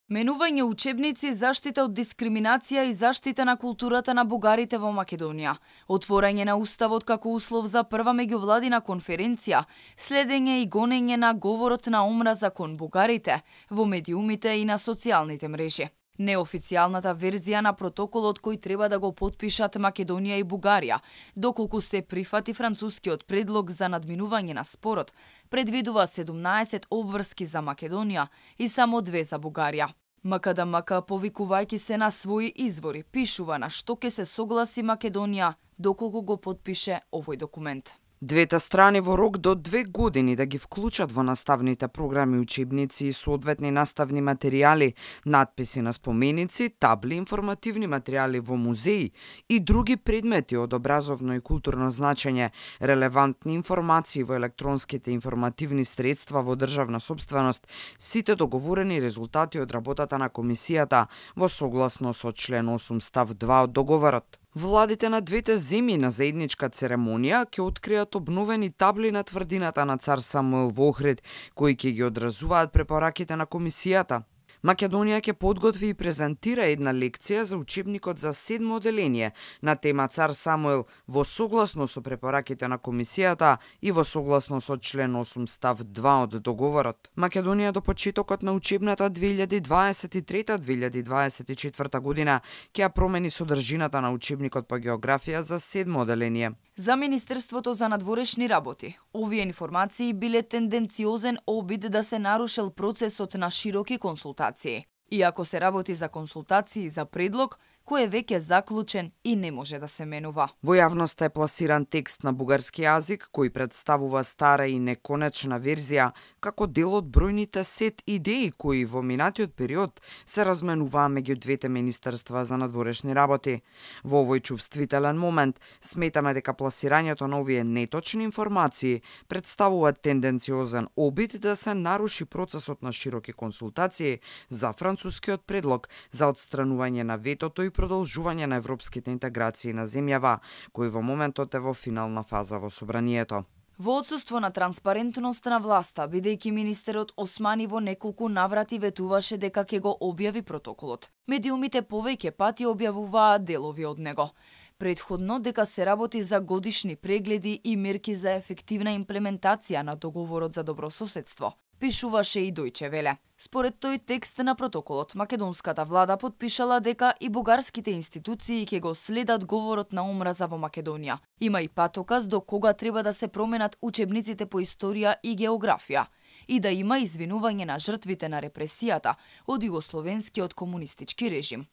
Менување учебници, заштита од дискриминација и заштита на културата на бугарите во Македонија. Отворање на уставот како услов за прва меѓувладина конференција, следење и гонење на говорот на омраза кон бугарите во медиумите и на социјалните мрежи. Неофицијалната верзија на протоколот кој треба да го потпишат Македонија и Бугарија, доколку се прифати францускиот предлог за надминување на спорот, предвидува 17 обврски за Македонија и само 2 за Бугарија. МКДМК, повикувајќи се на своји извори, пишува на што ќе се согласи Македонија доколку го потпише овој документ. Двете страни во рок до 2 години да ги вклучат во наставните програми учебници и соодветни наставни материјали, надписи на споменици, табли, информативни материјали во музеи и други предмети од образовно и културно значење, релевантни информации во електронските информативни средства во државна сопственост, сите договорени резултати од работата на комисијата во согласно со член 8 став 2 од договорот. Владите на двете земји на заедничка церемонија ќе откријат обновени табли на тврдината на цар Самуил во Охрид, кои ќе ги одразуваат препораките на комисијата. Македонија ќе подготви и презентира една лекција за учебникот за 7 оделение на тема Цар Самуил во согласно со препораките на комисијата и во согласно со член 8 став 2 од договорот. Македонија до почетокот на учебната 2023-2024 година ќе ја промени содржината на учебникот по географија за 7 оделение. За Министерството за надворешни работи, овие информации биле тенденциозен обид да се нарушил процесот на широки консултации. Иако се работи за консултации за предлог, кој е веќе заклучен и не може да се менува. Во јавноста е пласиран текст на бугарски јазик кој представува стара и неконечна верзија како дел од бројните сет идеи кои во минатиот период се разменуваа меѓу двете министерства за надворешни работи. Во овој чувствителен момент сметаме дека пласирањето на овие неточни информации представува тенденциозен обид да се наруши процесот на широки консултации за францускиот предлог за отстранување на ветото и продолжување на европските интеграции на земјава, кој во моментот е во финална фаза во собранието. Во отсуство на транспарентност на власта, бидејќи министерот Османи во неколку наврати ветуваше дека ќе го објави протоколот. Медиумите повеќе пати објавуваа делови од него. Предходно дека се работи за годишни прегледи и мерки за ефективна имплементација на договорот за добрососедство, пишуваше и Дојче Веле. Според тој текст на протоколот, македонската влада потпишала дека и бугарските институции ќе го следат говорот на омраза во Македонија. Има и патоказ до кога треба да се променат учебниците по историја и географија и да има извинување на жртвите на репресијата од југословенскиот комунистички режим.